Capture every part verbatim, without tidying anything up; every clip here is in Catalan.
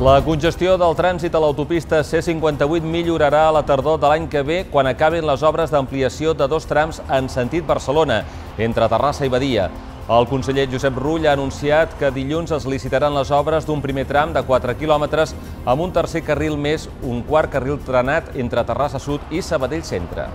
La congestió del trànsit a l'autopista C cinquanta-vuit millorarà a la tardor de l'any que ve quan acabin les obres d'ampliació de dos trams en sentit Barcelona, entre Terrassa i Badia. El conseller Josep Rull ha anunciat que dilluns es licitaran les obres d'un primer tram de quatre quilòmetres amb un tercer carril més un quart carril trenat entre Terrassa Sud i Sabadell Centre.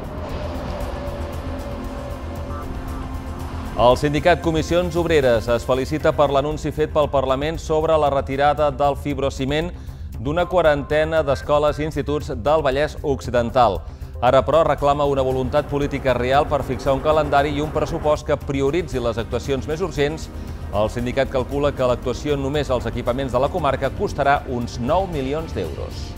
El sindicat Comissions Obreres es felicita per l'anunci fet pel Parlament sobre la retirada del fibrociment d'una quarantena d'escoles i instituts del Vallès Occidental. Ara, però, reclama una voluntat política real per fixar un calendari i un pressupost que prioritzi les actuacions més urgents. El sindicat calcula que l'actuació només als equipaments de la comarca costarà uns nou milions d'euros.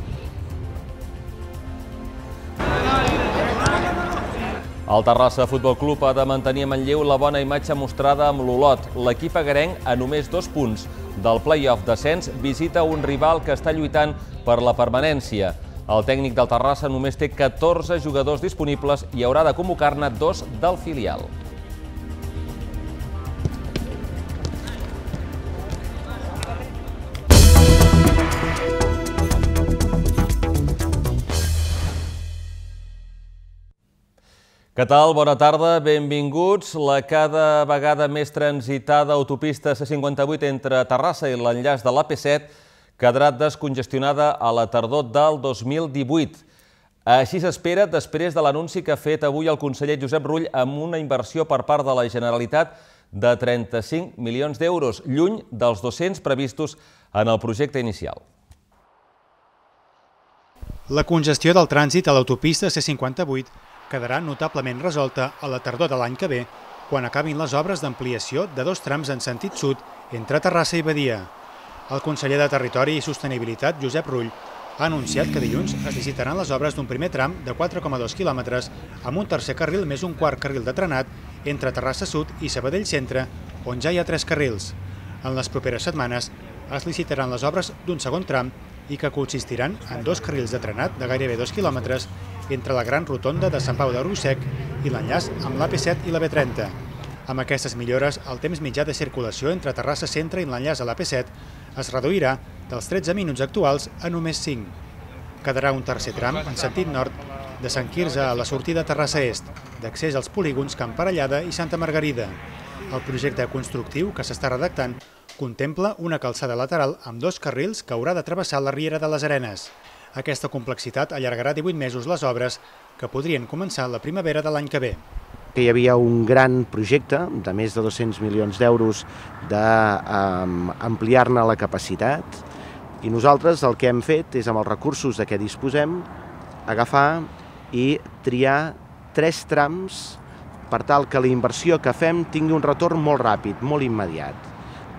El Terrassa Futbol Club ha de mantenir a Manlleu la bona imatge mostrada amb l'Olot. L'equip agarenc, a només dos punts del play-off d'ascens, visita un rival que està lluitant per la permanència. El tècnic del Terrassa només té catorze jugadors disponibles i haurà de convocar-ne dos del filial. Què tal? Bona tarda, benvinguts. La cada vegada més transitada autopista C cinquanta-vuit entre Terrassa i l'enllaç de l'A P set quedarà descongestionada a la tardor del dos mil divuit. Així s'espera després de l'anunci que ha fet avui el conseller Josep Rull amb una inversió per part de la Generalitat de trenta-cinc milions d'euros, lluny dels dos-cents previstos en el projecte inicial. La congestió del trànsit a l'autopista C cinquanta-vuit quedarà notablement resolta a la tardor de l'any que ve, quan acabin les obres d'ampliació de dos trams en sentit sud entre Terrassa i Badia. El conseller de Territori i Sostenibilitat, Josep Rull, ha anunciat que dilluns es licitaran les obres d'un primer tram de quatre coma dos quilòmetres amb un tercer carril més un quart carril de trenat entre Terrassa Sud i Sabadell Centre, on ja hi ha tres carrils. En les properes setmanes es licitaran les obres d'un segon tram i que consistiran en dos carrils de trenat de gairebé dos quilòmetres entre la Gran Rotonda de Sant Pau de Rosec i l'enllaç amb l'A P set i la B trenta. Amb aquestes millores, el temps mitjà de circulació entre Terrassa Centre i l'enllaç a l'A P set es reduirà dels tretze minuts actuals a només cinc. Quedarà un tercer tram en sentit nord de Sant Quirze a la sortida Terrassa Est, d'accés als polígons Camp Parellada i Santa Margarida. El projecte constructiu que s'està redactant contempla una calçada lateral amb dos carrils que haurà de travessar la Riera de les Arenes. Aquesta complexitat allargarà divuit mesos les obres, que podrien començar la primavera de l'any que ve. Hi havia un gran projecte de més de dos-cents milions d'euros d'ampliar-ne la capacitat i nosaltres el que hem fet és, amb els recursos de què disposem, agafar i triar tres trams per tal que la inversió que fem tingui un retorn molt ràpid, molt immediat,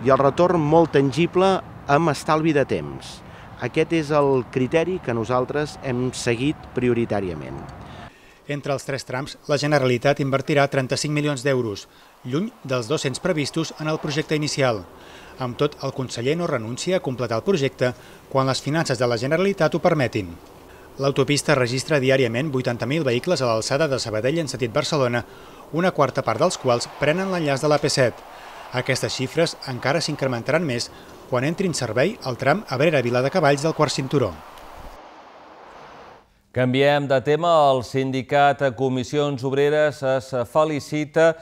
i el retorn molt tangible amb estalvi de temps. Aquest és el criteri que nosaltres hem seguit prioritàriament. Entre els tres trams, la Generalitat invertirà trenta-cinc milions d'euros, lluny dels dos-cents previstos en el projecte inicial. Amb tot, el conseller no renuncia a completar el projecte quan les finances de la Generalitat ho permetin. L'autopista registra diàriament vuitanta mil vehicles a l'alçada de Sabadell en sentit Barcelona, una quarta part dels quals prenen l'enllaç de l'A P set. Aquestes xifres encara s'incrementaran més quan entri en servei el tram Abrera-Viladecavalls del quart cinturó. Canviem de tema. El sindicat Comissions Obreres es felicita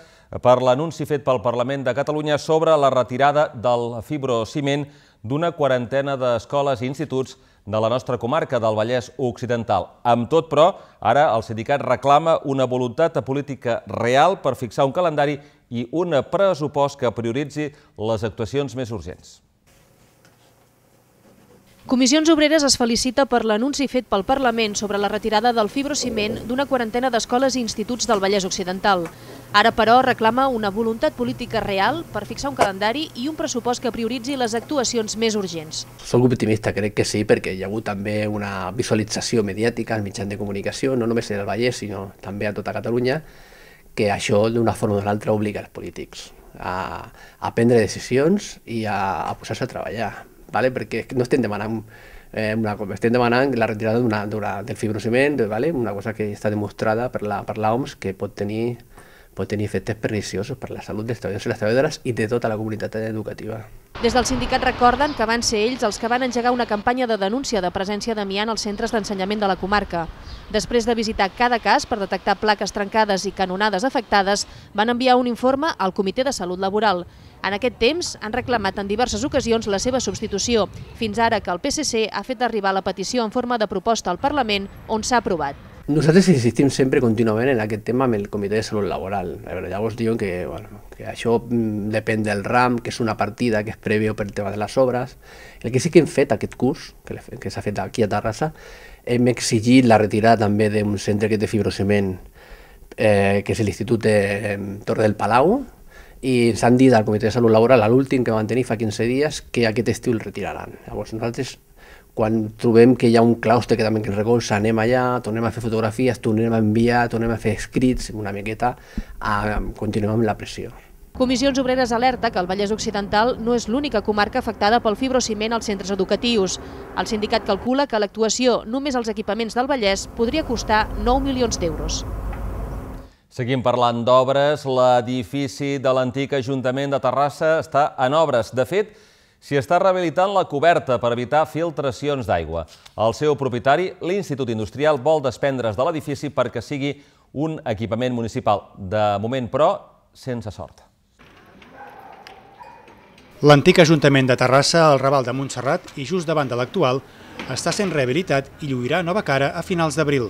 per l'anunci fet pel Parlament de Catalunya sobre la retirada del fibrociment d'una quarantena d'escoles i instituts de la nostra comarca del Vallès Occidental. Amb tot, però, ara el sindicat reclama una voluntat política real per fixar un calendari i un pressupost que prioritzi les actuacions més urgents. Comissions Obreres es felicita per l'anunci fet pel Parlament sobre la retirada del fibrociment d'una quarantena d'escoles i instituts del Vallès Occidental. Ara, però, reclama una voluntat política real per fixar un calendari i un pressupost que prioritzi les actuacions més urgents. Soc optimista, crec que sí, perquè hi ha hagut també una visualització mediàtica als mitjans de comunicació, no només en el Vallès, sinó també a tota Catalunya, que això d'una forma o d'una altra obliga els polítics a, a prendre decisions i a, a posar-se a treballar. Vale? Perquè no estem demanant, eh, una, estem demanant la retirada una, una, del fibrociment, vale? Una cosa que està demostrada per la, per l'O M S que pot tenir pot tenir efectes perniciosos per la salut dels treballadors i les treballadores i de tota la comunitat educativa. Des del sindicat recorden que van ser ells els que van engegar una campanya de denúncia de presència d'amiant als centres d'ensenyament de la comarca. Després de visitar cada cas per detectar plaques trencades i canonades afectades, van enviar un informe al Comitè de Salut Laboral. En aquest temps han reclamat en diverses ocasions la seva substitució, fins ara que el P S C ha fet arribar la petició en forma de proposta al Parlament, on s'ha aprovat. Nosaltres insistim sempre contínuament en aquest tema amb el Comitè de Salut Laboral. Llavors diuen que, bueno, que això depèn del RAM, que és una partida que és prèvia per tema de les obres. El que sí que hem fet aquest curs, que s'ha fet aquí a Terrassa, hem exigit la retirada també d'un centre que té fibrociment, eh, que és l'Institut de Torre del Palau, i s'han dit al Comitè de Salut Laboral, a l'últim que van tenir fa quinze dies, que aquest estiu el retiraran. Llavors nosaltres, quan trobem que hi ha un claustre que també ens recolza, anem allà, tornem a fer fotografies, tornem a enviar, tornem a fer escrits, una miqueta, a, continuem amb la pressió. Comissions Obreres alerta que el Vallès Occidental no és l'única comarca afectada pel fibrociment als centres educatius. El sindicat calcula que l'actuació només als equipaments del Vallès podria costar nou milions d'euros. Seguim parlant d'obres. L'edifici de l'antic Ajuntament de Terrassa està en obres. De fet, s'hi està rehabilitant la coberta per evitar filtracions d'aigua. El seu propietari, l'Institut Industrial, vol desprendre's de l'edifici perquè sigui un equipament municipal. De moment, però, sense sort. L'antic Ajuntament de Terrassa, al Raval de Montserrat i just davant de l'actual, està sent rehabilitat i lluirà nova cara a finals d'abril.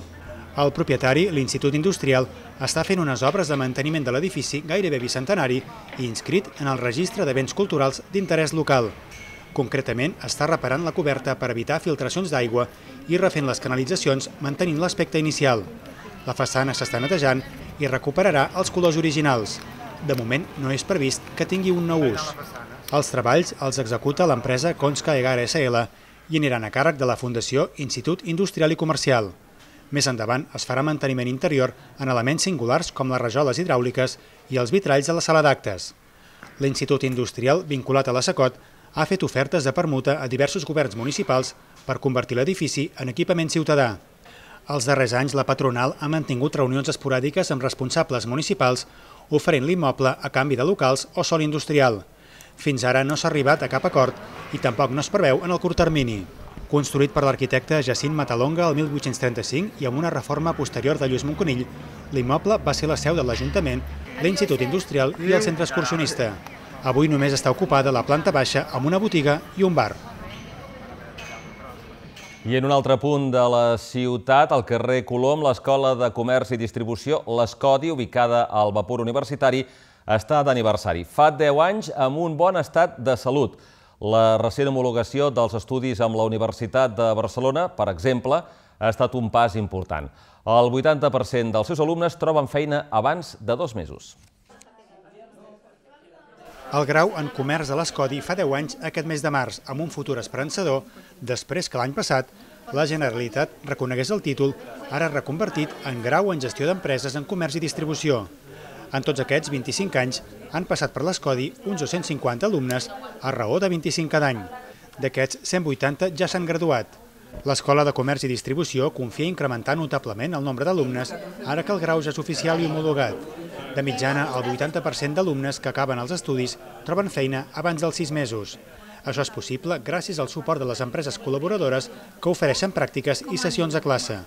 El propietari, l'Institut Industrial, està fent unes obres de manteniment de l'edifici gairebé bicentenari i inscrit en el registre de béns culturals d'interès local. Concretament, està reparant la coberta per evitar filtracions d'aigua i refent les canalitzacions mantenint l'aspecte inicial. La façana s'està netejant i recuperarà els colors originals. De moment, no és previst que tingui un nou ús. Els treballs els executa l'empresa Conska Egara S L i aniran a càrrec de la Fundació Institut Industrial i Comercial. Més endavant es farà manteniment interior en elements singulars com les rajoles hidràuliques i els vitralls de la sala d'actes. L'Institut Industrial, vinculat a la SECOT, ha fet ofertes de permuta a diversos governs municipals per convertir l'edifici en equipament ciutadà. Els darrers anys, la patronal ha mantingut reunions esporàdiques amb responsables municipals oferint l'immoble a canvi de locals o sòl industrial. Fins ara no s'ha arribat a cap acord i tampoc no es preveu en el curt termini. Construït per l'arquitecte Jacint Matalonga el mil vuit-cents trenta-cinc i amb una reforma posterior de Lluís Monconill, l'immoble va ser la seu de l'Ajuntament, l'Institut Industrial i el centre excursionista. Avui només està ocupada la planta baixa amb una botiga i un bar. I en un altre punt de la ciutat, al carrer Colom, l'Escola de Comerç i Distribució, l'Escodi, ubicada al Vapor Universitari, està d'aniversari. Fa deu anys amb un bon estat de salut. La recent homologació dels estudis amb la Universitat de Barcelona, per exemple, ha estat un pas important. El vuitanta per cent dels seus alumnes troben feina abans de dos mesos. El grau en comerç a l'Escodi fa deu anys aquest mes de març, amb un futur esperançador, després que l'any passat la Generalitat reconegués el títol, ara reconvertit en grau en gestió d'empreses en comerç i distribució. En tots aquests vint-i-cinc anys han passat per l'Escodi uns dos-cents cinquanta alumnes a raó de vint-i-cinc cada any. D'aquests, cent vuitanta ja s'han graduat. L'Escola de Comerç i Distribució confia incrementar notablement el nombre d'alumnes ara que el grau ja és oficial i homologat. De mitjana, el vuitanta per cent d'alumnes que acaben els estudis troben feina abans dels sis mesos. Això és possible gràcies al suport de les empreses col·laboradores que ofereixen pràctiques i sessions de classe.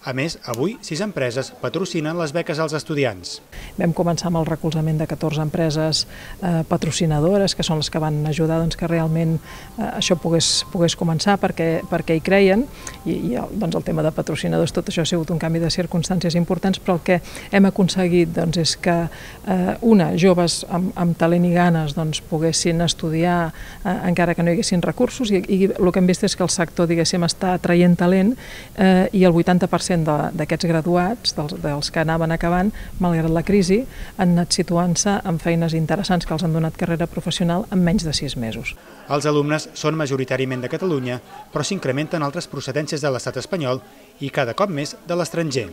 A més, avui, sis empreses patrocinen les beques als estudiants. Vam començar amb el recolzament de catorze empreses eh, patrocinadores, que són les que van ajudar doncs, que realment eh, això pogués, pogués començar perquè, perquè hi creien, i, i doncs, el tema de patrocinadors, tot això ha sigut un canvi de circumstàncies importants, però el que hem aconseguit doncs, és que eh, una, joves amb, amb talent i ganes doncs, poguessin estudiar eh, encara que no hi haguessin recursos, i, i el que hem vist és que el sector, diguéssim, està traient talent eh, i el vuitanta per cent d'aquests graduats, dels, dels que anaven acabant, malgrat la crisi, han anat situant-se en feines interessants que els han donat carrera professional en menys de sis mesos. Els alumnes són majoritàriament de Catalunya, però s'incrementen altres procedències de l'estat espanyol i cada cop més de l'estranger.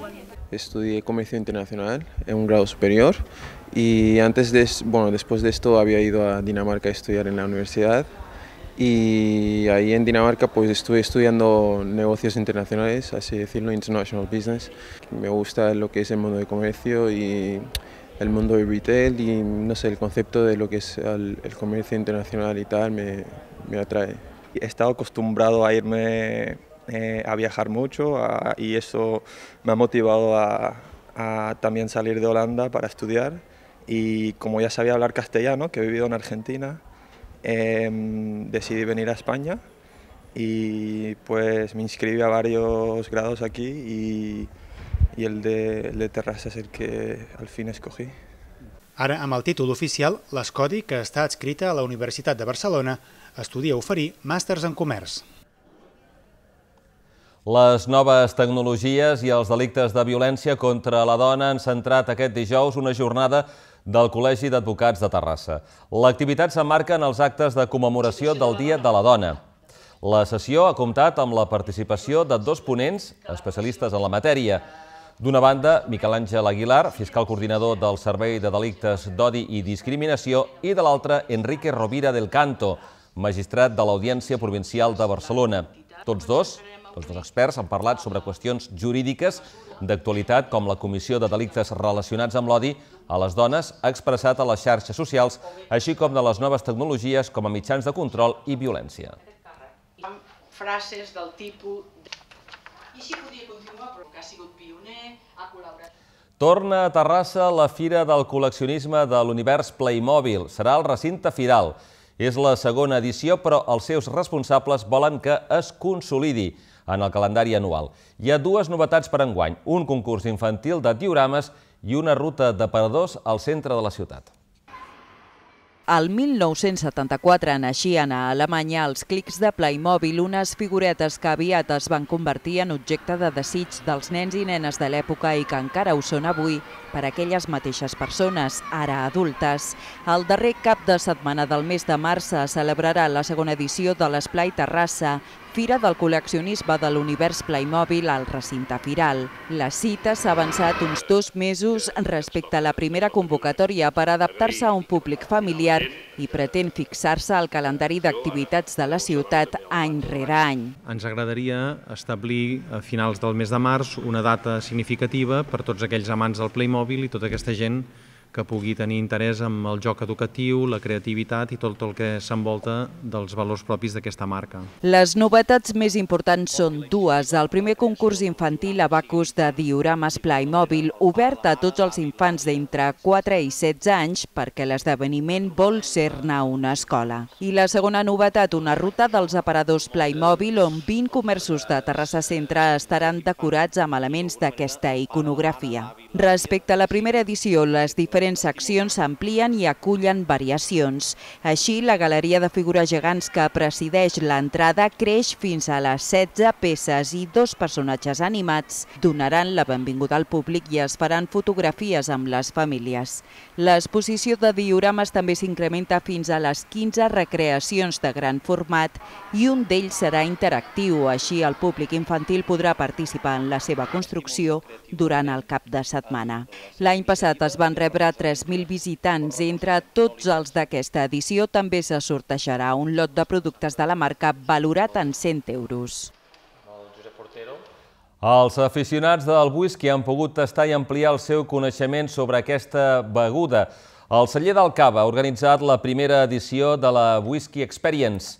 Estudié Comercio Internacional en un grado superior y antes de, bueno, después de esto había ido a Dinamarca a estudiar en la universidad. Y ahí en Dinamarca pues estuve estudiando negocios internacionales, así decirlo, international business. Me gusta lo que es el mundo de comercio y el mundo del retail y no sé, el concepto de lo que es el, el comercio internacional y tal me, me atrae. He estado acostumbrado a irme eh, a viajar mucho a, y eso me ha motivado a, a también salir de Holanda para estudiar, y como ya sabía hablar castellano, que he vivido en Argentina, eh, decidí venir a España y pues me inscribí a varios grados aquí y i el de, el de Terrassa és el que al fin escogí. Ara, amb el títol oficial, l'Escodi, que està adscrita a la Universitat de Barcelona, estudia oferir màsters en comerç. Les noves tecnologies i els delictes de violència contra la dona han centrat aquest dijous una jornada del Col·legi d'Advocats de Terrassa. L'activitat s'emmarca en els actes de commemoració del Dia de la Dona. La sessió ha comptat amb la participació de dos ponents especialistes en la matèria. D'una banda, Miquel Àngel Aguilar, fiscal coordinador del Servei de Delictes d'Odi i Discriminació, i de l'altra, Enrique Rovira del Canto, magistrat de l'Audiència Provincial de Barcelona. Tots dos, tots dos experts, han parlat sobre qüestions jurídiques d'actualitat, com la Comissió de Delictes relacionats amb l'odi a les dones ha expressat a les xarxes socials, així com de les noves tecnologies com a mitjans de control i violència. Frases del tipus... I així podria continuar, però que ha sigut pioner, ha col·laborat... Torna a Terrassa la Fira del Col·leccionisme de l'Univers Playmobil. Serà al recinte Firal. És la segona edició, però els seus responsables volen que es consolidi en el calendari anual. Hi ha dues novetats per enguany, un concurs infantil de diorames i una ruta d'aparadors al centre de la ciutat. El mil nou-cents setanta-quatre naixien a Alemanya els clics de Playmobil, unes figuretes que aviat es van convertir en objecte de desig dels nens i nenes de l'època i que encara ho són avui per a aquelles mateixes persones, ara adultes. El darrer cap de setmana del mes de març se celebrarà la segona edició de l'Esplai Terrassa, Fira del Col·leccionisme de l'Univers Playmobil al recinte Firal. La cita s'ha avançat uns dos mesos respecte a la primera convocatòria per adaptar-se a un públic familiar i pretén fixar-se al calendari d'activitats de la ciutat any rere any. Ens agradaria establir a finals del mes de març una data significativa per tots aquells amants del Playmobil i tota aquesta gent que pugui tenir interès en el joc educatiu, la creativitat i tot el que s'envolta dels valors propis d'aquesta marca. Les novetats més importants són dues. El primer concurs infantil Abacus de diorames Playmobil, obert a tots els infants d'entre quatre i setze anys perquè l'esdeveniment vol ser-ne una escola. I la segona novetat, una ruta dels aparadors Playmobil on vint comerços de Terrassa Centre estaran decorats amb elements d'aquesta iconografia. Respecte a la primera edició, les diferents seccions s'amplien i acullen variacions. Així, la galeria de figures gegants que presideix l'entrada creix fins a les setze peces i dos personatges animats donaran la benvinguda al públic i es faran fotografies amb les famílies. L'exposició de diorames també s'incrementa fins a les quinze recreacions de gran format i un d'ells serà interactiu, així el públic infantil podrà participar en la seva construcció durant el cap de setmana. L'any passat es van rebre tres mil visitants. Entre tots els d'aquesta edició també se sortejarà un lot de productes de la marca valorat en cent euros. Els aficionats del whisky han pogut tastar i ampliar el seu coneixement sobre aquesta beguda. El celler del Cava ha organitzat la primera edició de la Whisky Experience.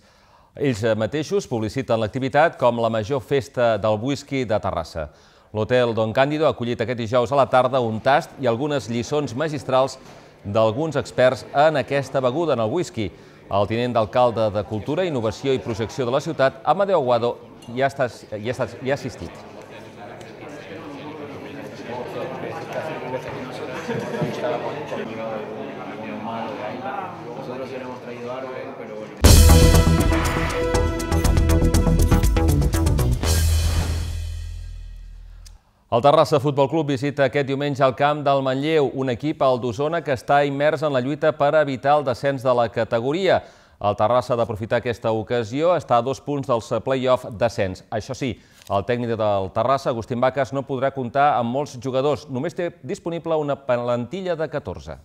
Ells mateixos publiciten l'activitat com la major festa del whisky de Terrassa. L'Hotel Don Cándido ha acollit aquest dijous a la tarda un tast i algunes lliçons magistrals d'alguns experts en aquesta beguda, en el whisky. El tinent d'alcalde de Cultura, Innovació i Projecció de la ciutat, Amadeu Aguado, hi ha assistit. El Terrassa Futbol Club visita aquest diumenge al camp del Manlleu, un equip al d'Osona que està immers en la lluita per evitar el descens de la categoria. El Terrassa ha d'aprofitar aquesta ocasió, està a dos punts dels play-off descens. Això sí, el tècnic del Terrassa, Agustín Vacas, no podrà comptar amb molts jugadors. Només té disponible una plantilla de catorze.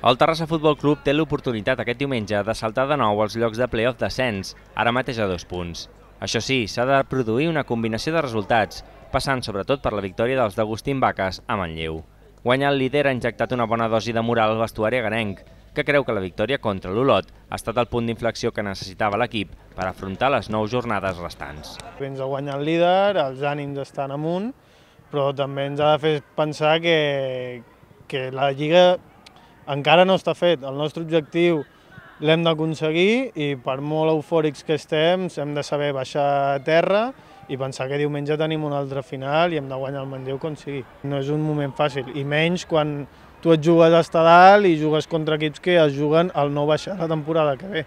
El Terrassa Futbol Club té l'oportunitat aquest diumenge de saltar de nou als llocs de play-off descens, ara mateix a dos punts. Això sí, s'ha de produir una combinació de resultats, passant sobretot per la victòria dels d'Agustín Vacas a Manlleu. Guanyar el líder ha injectat una bona dosi de moral al vestuari agarenc, que creu que la victòria contra l'Olot ha estat el punt d'inflexió que necessitava l'equip per afrontar les nou jornades restants. Ens ha guanyat el líder, els ànims estan amunt, però també ens ha de fer pensar que, que la Lliga encara no està fet. El nostre objectiu l'hem d'aconseguir i per molt eufòrics que estem hem de saber baixar a terra i pensar que diumenge tenim una altra final i hem de guanyar el Manlleu com sigui. No és un moment fàcil, i menys quan tu et jugues a estar dalt i jugues contra equips que es juguen al no baixar la temporada que ve,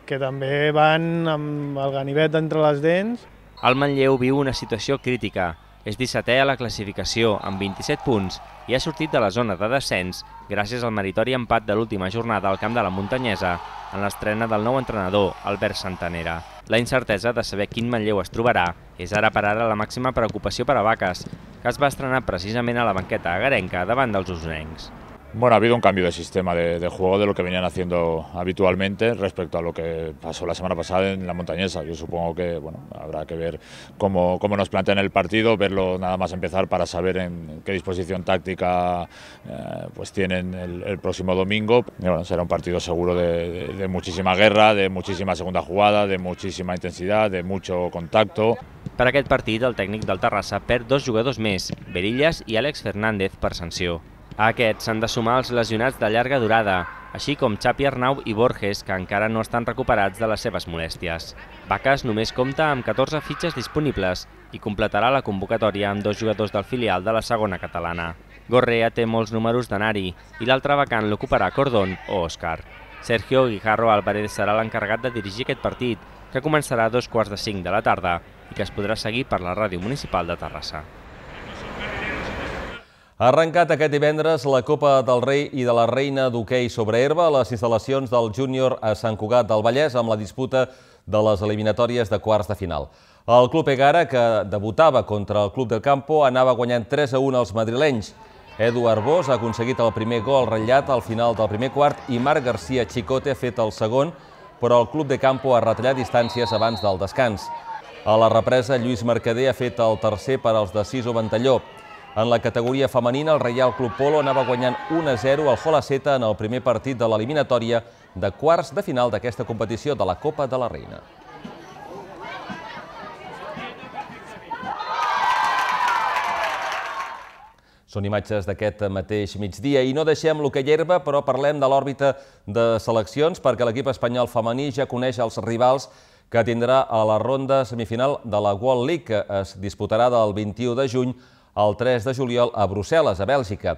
que també van amb el ganivet entre les dents. El Manlleu viu una situació crítica. És dissetè a la classificació, amb vint-i-set punts, i ha sortit de la zona de descens gràcies al meritori empat de l'última jornada al camp de la Muntanyesa en l'estrena del nou entrenador, Albert Santanera. La incertesa de saber quin Manlleu es trobarà és ara per ara la màxima preocupació per a Vaques, que es va estrenar precisament a la banqueta agarenca davant dels usonencs. Bueno, ha habido un cambio de sistema de, de juego de lo que venían haciendo habitualmente respecto a lo que pasó la semana pasada en la Montañesa. Yo supongo que bueno, habrá que ver cómo, cómo nos plantean el partido, verlo nada más empezar para saber en qué disposición táctica eh, pues tienen el, el próximo domingo. Y bueno, será un partido seguro de, de, de muchísima guerra, de muchísima segunda jugada, de muchísima intensidad, de mucho contacto. Per aquest partit, el tècnic del Terrassa perd dos jugadors més, Berillas i Àlex Fernández, per sanció. A aquests s'han de sumar els lesionats de llarga durada, així com Xapi Arnau i Borges, que encara no estan recuperats de les seves molèsties. Vaques només compta amb catorze fitxes disponibles i completarà la convocatòria amb dos jugadors del filial de la segona catalana. Gorrea té molts números d'anar-hi i l'altre vacant l'ocuparà Cordón o Òscar. Sergio Guijarro Álvarez serà l'encarregat de dirigir aquest partit, que començarà a dos quarts de cinc de la tarda i que es podrà seguir per la ràdio municipal de Terrassa. Ha arrencat aquest divendres la Copa del Rei i de la Reina d'hoquei sobre herba a les instal·lacions del Júnior a Sant Cugat del Vallès amb la disputa de les eliminatòries de quarts de final. El Club Egara, que debutava contra el Club del Campo, anava guanyant tres a un als madrilenys. Edu Arbós ha aconseguit el primer gol ratllat al final del primer quart i Marc García Chicote ha fet el segon, però el Club de Campo ha retallat distàncies abans del descans. A la represa, Lluís Mercader ha fet el tercer per als de Siso Ventalló. En la categoria femenina, el Reial Club Polo anava guanyant un a zero al Jolaceta en el primer partit de l'eliminatòria de quarts de final d'aquesta competició de la Copa de la Reina. Són imatges d'aquest mateix migdia i no deixem l'hoquei herba, però parlem de l'òrbita de seleccions perquè l'equip espanyol femení ja coneix els rivals que tindrà a la ronda semifinal de la World League, que es disputarà del vint-i-u de juny el tres de juliol a Brussel·les, a Bèlgica.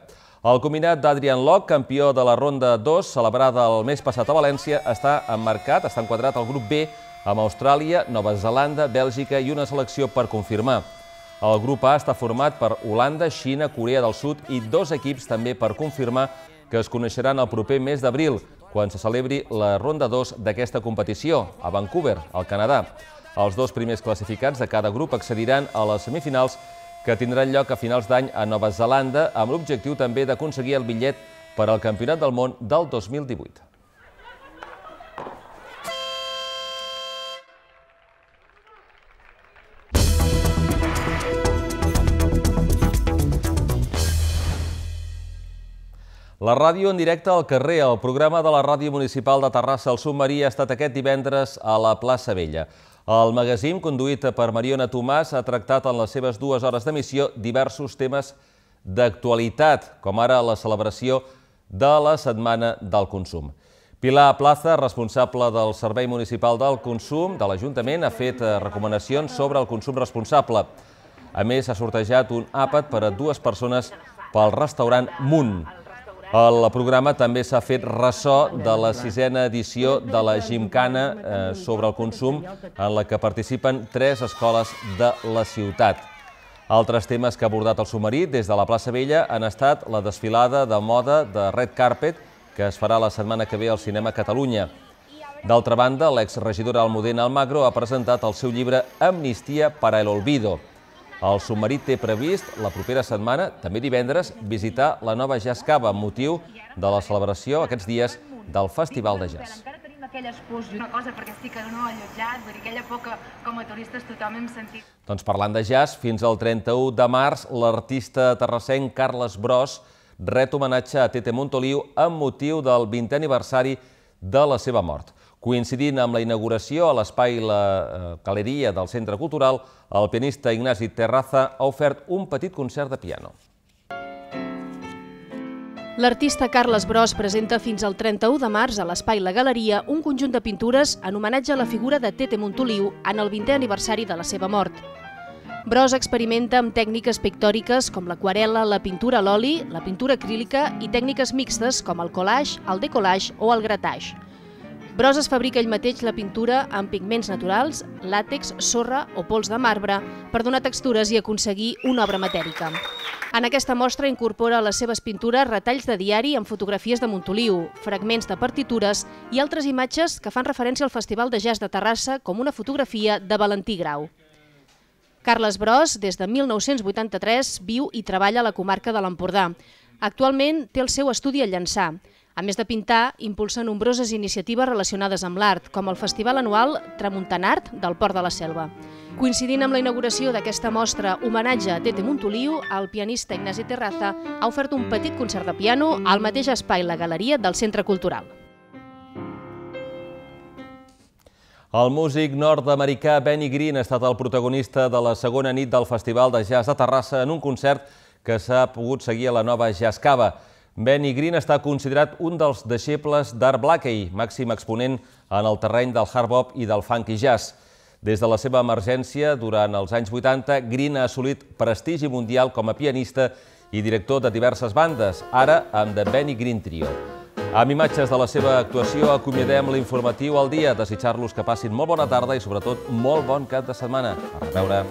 El combinat d'Adrian Locke, campió de la ronda dos, celebrada el mes passat a València, està emmarcat, està enquadrat al grup B, amb Austràlia, Nova Zelanda, Bèlgica i una selecció per confirmar. El grup A està format per Holanda, Xina, Corea del Sud i dos equips també per confirmar que es coneixeran el proper mes d'abril, quan se celebri la ronda dos d'aquesta competició, a Vancouver, al Canadà. Els dos primers classificats de cada grup accediran a les semifinals que tindran lloc a finals d'any a Nova Zelanda, amb l'objectiu també d'aconseguir el bitllet per al Campionat del Món del dos mil divuit. La ràdio en directe al carrer, el programa de la Ràdio Municipal de Terrassa, el Submarí, ha estat aquest divendres a la plaça Vella. El magazín, conduït per Mariona Tomàs, ha tractat en les seves dues hores d'emissió diversos temes d'actualitat, com ara la celebració de la Setmana del Consum. Pilar Plaza, responsable del Servei Municipal del Consum de l'Ajuntament, ha fet recomanacions sobre el consum responsable. A més, ha sortejat un àpat per a dues persones pel restaurant Munt. El programa també s'ha fet ressò de la sisena edició de la Gimcana sobre el consum, en la que participen tres escoles de la ciutat. Altres temes que ha abordat el Submarí des de la plaça Vella han estat la desfilada de moda de Red Carpet, que es farà la setmana que ve al Cinema Catalunya. D'altra banda, l'exregidora Almudena Almagro ha presentat el seu llibre Amnistia para el Olvido. El Submarí té previst la propera setmana, també divendres, visitar la nova Jazz Cava amb motiu de la celebració aquests dies del Festival de Jazz. Encara tenim aquelles pors, una cosa perquè estic no allotjat, vull dir, aquella por que com a turistes tothom hem sentit. Doncs parlant de jazz, fins al trenta-u de març, l'artista terrassenc Carles Bros ret homenatge a Tete Montoliu amb motiu del vintè aniversari de la seva mort. Coincidint amb la inauguració a l'espai La Galeria del Centre Cultural, el pianista Ignasi Terraza ha ofert un petit concert de piano. L'artista Carles Bros presenta fins al trenta-u de març a l'Espai La Galeria un conjunt de pintures en homenatge a la figura de Tete Montoliu en el vintè aniversari de la seva mort. Bros experimenta amb tècniques pictòriques com l'aquarel·la, la pintura a l'oli, la pintura acrílica i tècniques mixtes com el collage, el decollage o el gratage. Bros es fabrica ell mateix la pintura amb pigments naturals, làtex, sorra o pols de marbre per donar textures i aconseguir una obra matèrica. En aquesta mostra incorpora a les seves pintures retalls de diari amb fotografies de Montoliu, fragments de partitures i altres imatges que fan referència al Festival de Jazz de Terrassa com una fotografia de Valentí Grau. Carles Bros, des de mil nou-cents vuitanta-tres, viu i treballa a la comarca de l'Empordà. Actualment té el seu estudi a Llançà. A més de pintar, impulsa nombroses iniciatives relacionades amb l'art, com el festival anual Tramuntanart del Port de la Selva. Coincidint amb la inauguració d'aquesta mostra homenatge a Tete Montoliu, el pianista Ignasi Terraza ha ofert un petit concert de piano al mateix espai La Galeria del Centre Cultural. El músic nord-americà Benny Green ha estat el protagonista de la segona nit del Festival de Jazz de Terrassa en un concert que s'ha pogut seguir a la nova Jazz Cava. Benny Green està considerat un dels deixebles d'Art Blakey, màxim exponent en el terreny del hard bop i del funky jazz. Des de la seva emergència, durant els anys vuitanta, Green ha assolit prestigi mundial com a pianista i director de diverses bandes, ara amb The Benny Green Trio. Amb imatges de la seva actuació acomiadem l'informatiu al dia. Desitjar-los que passin molt bona tarda i sobretot molt bon cap de setmana. A reveure.